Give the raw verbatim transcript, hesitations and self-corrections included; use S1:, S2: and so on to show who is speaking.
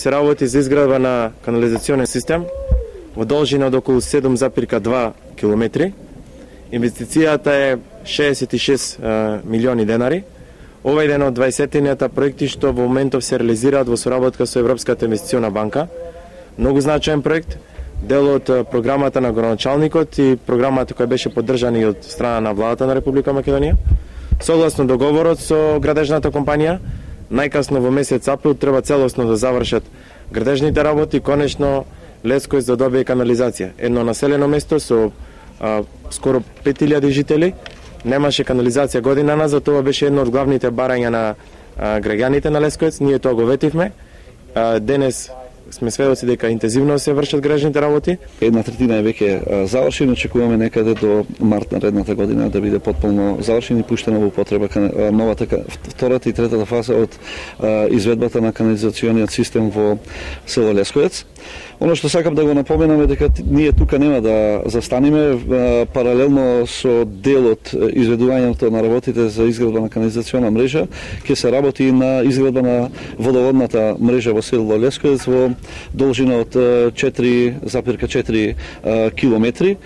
S1: се работи за изградба на канализационен систем во должина од околу седум запирка два километри. Инвестицијата е шеесет и шест милиони денари. Ова е еден од дваесетината проекти што во моментов се реализираат во соработка со Европската инвестициона банка. Многу значаен проект, дел од програмата на градоначалникот и програмата која беше поддржана и од страна на владата на Република Македонија. Согласно договорот со градежната компанија, најкасно во месец април треба целосно да завршат градежните работи и конечно Лесковец да добие канализација. Едно населено место со а, скоро пет илјади жители, немаше канализација година назад, тоа беше едно од главните барања на а, граѓаните на Лесковец, ние тоа го ветивме. А, денес сме сведоци дека интензивно се вршат градежните работи.
S2: Една третина е веќе завршена, очекуваме некаде до март наредната година да биде потполно завршена и пуштена во употреба новата втората и третата фаза од изведбата на канализациониот систем во село Лесковец. Оно што сакам да го напоменам е дека ние тука нема да застанеме, паралелно со делот изведувањето на работите за изградба на канализациона мрежа, ќе се работи на изградба на водоводната мрежа во село Лесковец во должина од четири запирка четири километри.